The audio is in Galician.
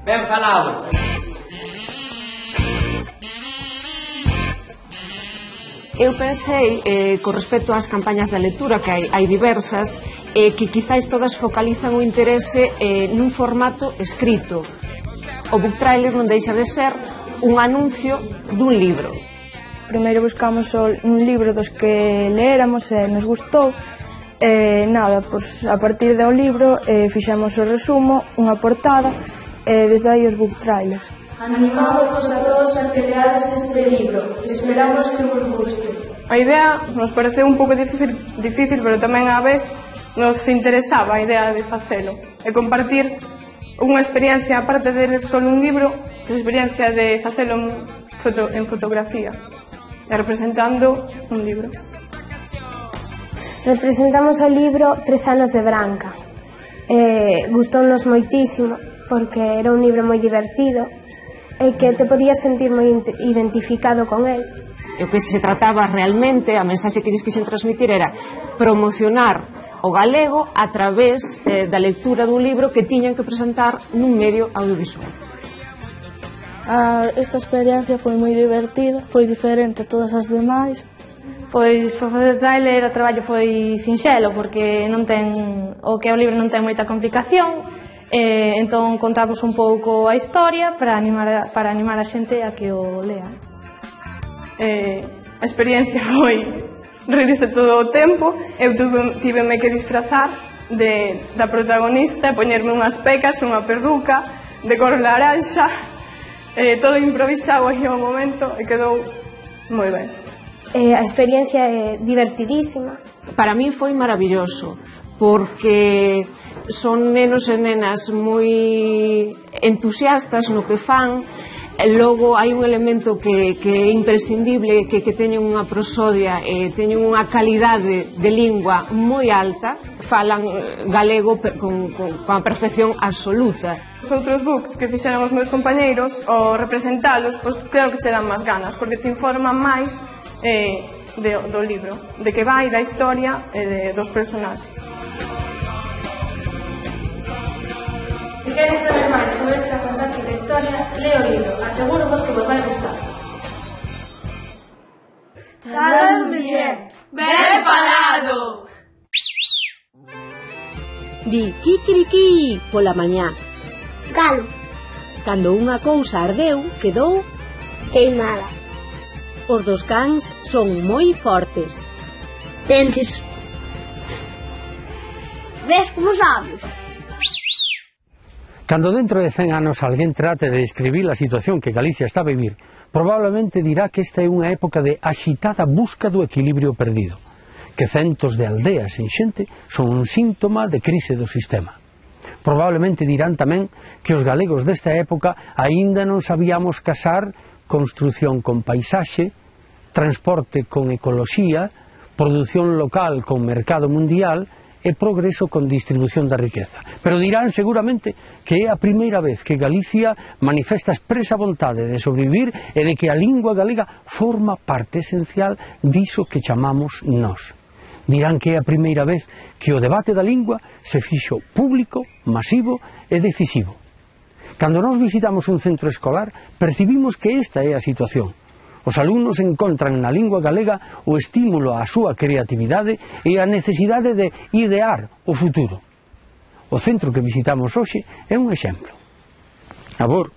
Ben falado. Eu pensei, con respecto ás campañas de lectura, que hai diversas, que quizáis todas focalizan o interese nun formato escrito. O book trailer non deixa de ser un anuncio dun libro. Primeiro buscamos un libro dos que leéramos e nos gustou. Nada, pois a partir do libro fixemos o resumo, unha portada e desde aí os book trailers. Animamos a todos a que leades este libro. Esperamos que vos guste. A idea nos pareceu un pouco difícil, pero tamén á vez nos interesaba a idea de facelo e compartir unha experiencia, aparte de ler só un libro, a experiencia de facelo en fotografía e representando un libro. Representamos o libro 13 anos de Branca. Gustounos moitísimo porque era un libro moi divertido e que te podías sentir moi identificado con el. E o que se trataba realmente, a mensaxe que lles quixen transmitir era promocionar o galego a través da lectura dun libro que tiñan que presentar nun medio audiovisual. Esta experiencia foi moi divertida, foi diferente a todas as demais. Pois o facer trailer o traballo foi sinxelo porque non ten o que o libro non ten moita complicación. Entón contamos un pouco a historia para animar a xente a que o lea. A experiencia foi reírse todo o tempo. Eu tiveme que disfrazar da protagonista, poñerme unhas pecas, unha perruca de cor laranxa, todo improvisado aí ao momento e quedou moi ben. A experiencia é divertidísima. Para min foi maravilloso porque son nenos e nenas moi entusiastas no que fan. Logo hai un elemento que é imprescindible, que teñen unha prosodia e teñen unha calidade de lingua moi alta, falan galego con a perfección absoluta. Os outros books que fixeron os meus compañeiros, ao representalos, pois claro que che dan máis ganas, porque te informan máis do libro, de que vai, da historia e dos personaxes. Se queres saber máis sobre esta fantástica historia, lee o libro. Aseguro-vos que vos vai gustar. Falado bien, ben falado. Di kikiriki pola mañá. Galo. Cando unha cousa ardeu, quedou queimada. Os dos cans son moi fortes. Dentes. Ves como sabes? Cando dentro de 100 anos alguén trate de describir a situación que Galicia está a vivir, probablemente dirá que esta é unha época de axitada busca do equilibrio perdido, que centos de aldeas en xente son un síntoma de crise do sistema. Probablemente dirán tamén que os galegos desta época aínda non sabíamos casar construción con paisaxe, transporte con ecoloxía, produción local con mercado mundial e progreso con distribución da riqueza. Pero dirán seguramente que é a primeira vez que Galicia manifesta expresa vontade de sobrevivir e de que a lingua galega forma parte esencial diso que chamamos nós. Dirán que é a primeira vez que o debate da lingua se fixo público, masivo e decisivo. Cando nós visitamos un centro escolar, percibimos que esta é a situación. Os alumnos encontran na lingua galega o estímulo á súa creatividade e a necesidade de idear o futuro. O centro que visitamos hoxe é un exemplo. A Bor